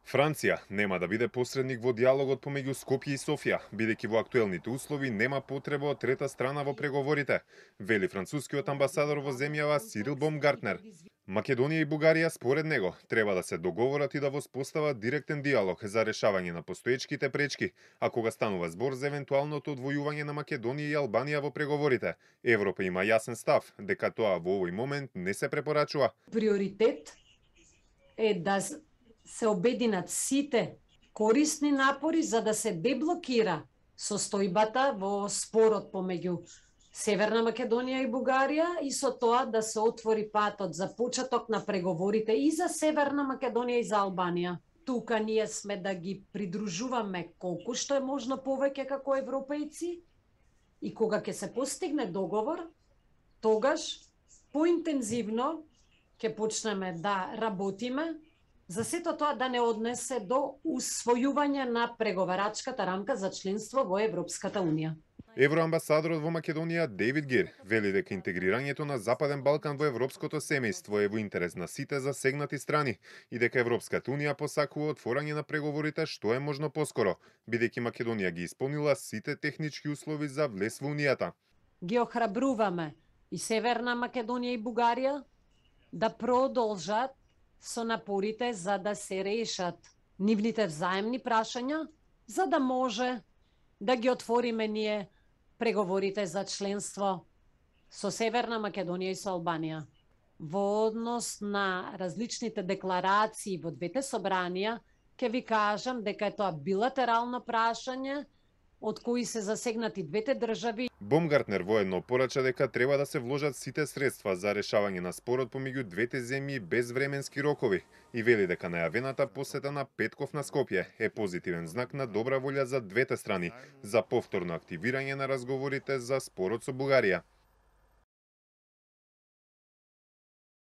Франција нема да биде посредник во диалогот помеѓу Скопје и Софија, бидејќи во актуелните услови нема потреба од трета страна во преговорите, вели францускиот амбасадор во земјава Сирил Бомгартнер. Македонија и Бугарија, според него, треба да се договорат и да воспостават директен диалог за решавање на постоечките пречки, а кога станува збор за евентуалното одвојување на Македонија и Албанија во преговорите, Европа има јасен став дека тоа во овој момент не се препорачува. Приоритет е да се обединат сите корисни напори за да се деблокира состојбата во спорот помеѓу Северна Македонија и Бугарија и со тоа да се отвори патот за почеток на преговорите и за Северна Македонија и за Албанија. Тука ние сме да ги придружуваме колку што е можно повеќе како европејци и кога ќе се постигне договор, тогаш поинтензивно ќе почнеме да работиме за сето тоа да не однесе до усвојување на преговарачката рамка за членство во Европската Унија. Евроамбасадорот во Македонија Дейвид Гир вели дека интегрирањето на Западен Балкан во европското семејство е во интерес на сите засегнати страни и дека Европската Унија посакува отворање на преговорите што е можно поскоро, бидејќи Македонија ги исполнила сите технички услови за влез во Унијата. Ги охрабруваме и Северна Македонија и Бугарија да продолжат со напорите за да се решат нивните взаемни прашања, за да може да ги отвориме ние преговорите за членство со Северна Македонија и со Албанија. Во однос на различните декларации во двете собранија, ќе ви кажам дека е тоа билатерално прашање од кои се засегнати двете држави. Бомгартнер воедно порача дека треба да се вложат сите средства за решавање на спорот помеѓу двете земји без временски рокови и вели дека најавената посета на Петков на Скопје е позитивен знак на добра волја за двете страни за повторно активирање на разговорите за спорот со Бугарија.